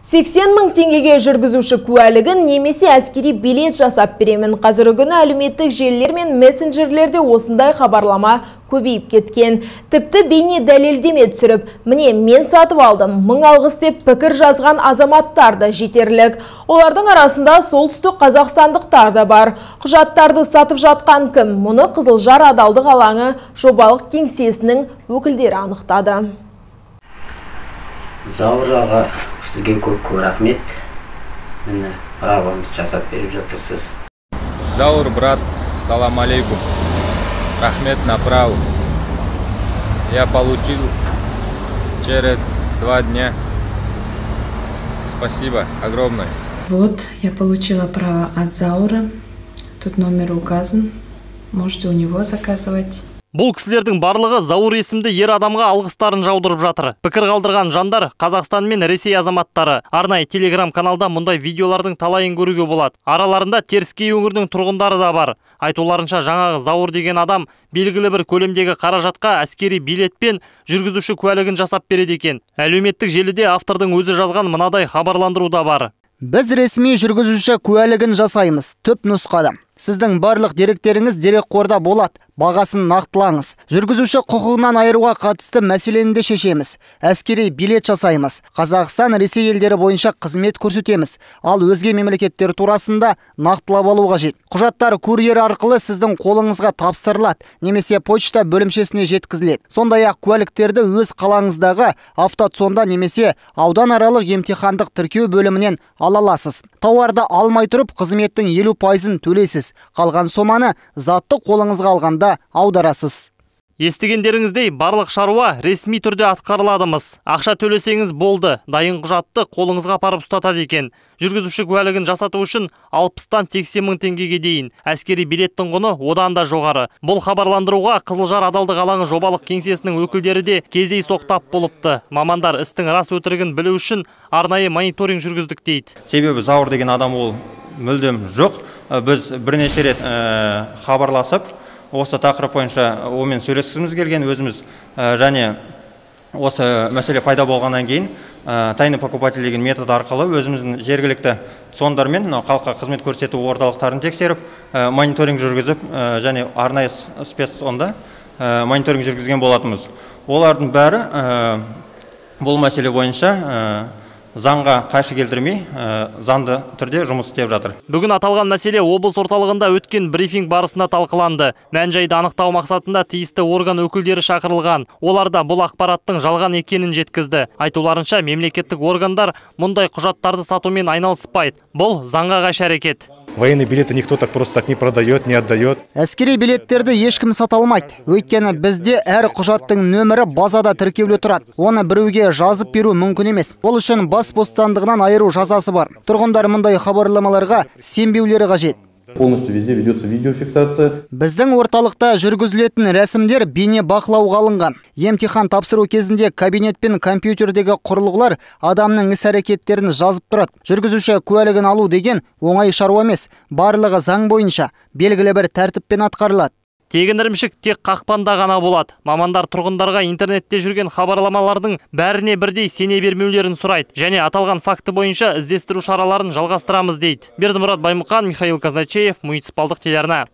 80 мың теңгеге жүргізуші куәлігін немесе әскери билет жасап беремін. Қазіргі күні әлеуметтік желілер мен мессенджерлерде осындай хабарлама көбейіп кеткен. Тіпті бейне дәлелдеме түсіріп, міне мен сатып алдым, 1000 алғыс деп пікір жазған азаматтар да жетерлік. Олардың арасында солтүстік қазақстандықтар да бар. Құжаттарды сатып жатқан кім? Мұны Қызылжар адалдық алаңы жобалық кеңсесінің өкілдері анықтады. Зауыр аға, сізге көп рахмет. Мені правамыз жасап беріп жатырсыз. Заур, брат, салам алейкум. Рахмет на праву. Я получил через 2 дня. Спасибо огромное. Вот, я получила право от Заура. Тут номер указан. Можете у него заказывать. Бұл кісілердің барлығы Заур есімді ер адамға алғыстарын жаудырып жатыр. Пікір қалдырған жандар Қазақстан мен Ресей азаматтары. Арнайы телеграм-каналда мұндай видеолардың талайын көруге болады. Араларында Теріскей өңірінің тұрғындары да бар. Айтуларынша жаңағы Заур деген адам белгілі бір көлемдегі қаражатқа әскери билет пен жүргізуші куәлігін жасап береді екен. Әлеуметтік желіде автордың өзі жазған мынадай хабарландыру да бар. Біз ресми жүргізуші куәлігін жасаймыз. Түп нұсқада. Сіздің барлық деректеріңіз дерекқорда болады. Бағасын нақтылаңыз. Жүргізуші құқығынан айыруға қатысты мәселені де шешеміз. Әскери билет жасаймыз. Қазақстан, Ресей елдері бойынша қызмет көрсетеміз. Ал өзге мемлекеттер турасында нақтылап алу қажет. Құжаттар курьер арқылы сіздің қолыңызға тапсырылады, немесе почта бөлімшесіне жеткізіледі. Сондай-ақ куәліктерді өз қалаңыздағы автотсонда немесе ауданаралық емтихандық тіркеу бөлімінен ала аласыз. Тауарды алмай тұрып, қызметтің 50%-ын төлейсіз. Қалған соманы затты қолыңызға алғанда аударасыз. Естігендеріңіздей барлық шаруа ресми түрде атқарыладымыз. Ақша төлесеңіз болды. Дайын құжатты қолыңызға апарып ұстатады екен. Жүргізуші куәлігін жасату үшін 60-тан 80 мың теңгеге дейін. Әскери билеттің құны одан да жоғары. Бұл хабарландыруға Қызылжар адалдық алаңы жобалық кеңсесінің өкілдері де кездей соқтап болыпты. Мамандар істің рас өтірігін білу үшін арнайы мониторинг жүргіздік дейді. Себебі Заур деген адам ол мүлдем жоқ. Біз бірнеше рет хабарласып, осы тақырып бойынша онымен сөйлескіміз келген, өзіміз және осы мәселе пайда болғаннан кейін тайный покупатель деген метод арқылы өзіміздің жергілікті сондармен халыққа қызмет көрсету орталықтарын тексеріп, мониторинг жүргізіп және арнайы спецсонда мониторинг жүргізген болатымыз. Олардың бәрі бұл мәселе бойынша заңға қайшы келтірмей, заңды түрде жұмыс істеп жатыр. Бүгін аталған мәселе облыс орталығында өткен брифинг барысында талқыланды. Мән-жайды анықтау мақсатында тиісті орган өкілдері шақырылған. Олар да бұл ақпараттың жалған екенін жеткізді. Айтуларынша мемлекеттік органдар мұндай құжаттарды сатумен айналыспайды. Бұл заңға қайшы әрекет. Военные билеты никто так просто так не продает, не отдает. Әскери билеттерді ешкім сата алмайды. Өйткені бізде әр құжаттың нөмірі базада тіркеулі тұрады. Оны біреуге жазып беру мүмкін емес. Ол үшін бас бостандығынан айыру жазасы бар. Тұрғындар мұндай хабарламаларға сенбеулері қажет. Полностью везде ведется видеофиксация. Біздің орталықта жүргізілетін рәсімдер бейне бақылауға алынған. Емтихан тапсыру кезінде кабинет пен компьютердегі құрылғылар адамның іс-әрекеттерін жазып тұрады. Жүргізуші куәлігін алу деген оңай шаруа емес. Барлығы заң бойынша белгілі бір тәртіппен атқарылады. Тегін ірімшік тек қақпанда ғана болады. Мамандар тұрғындарға интернетте жүрген хабарламалардың бәріне бірдей сене бермеулерін сұрайды. Және аталған факті бойынша іздестіру шараларын жалғастырамыз дейді. Бердімұрат Баймұқан, Михаил Казначеев, муниципалдық телеарна.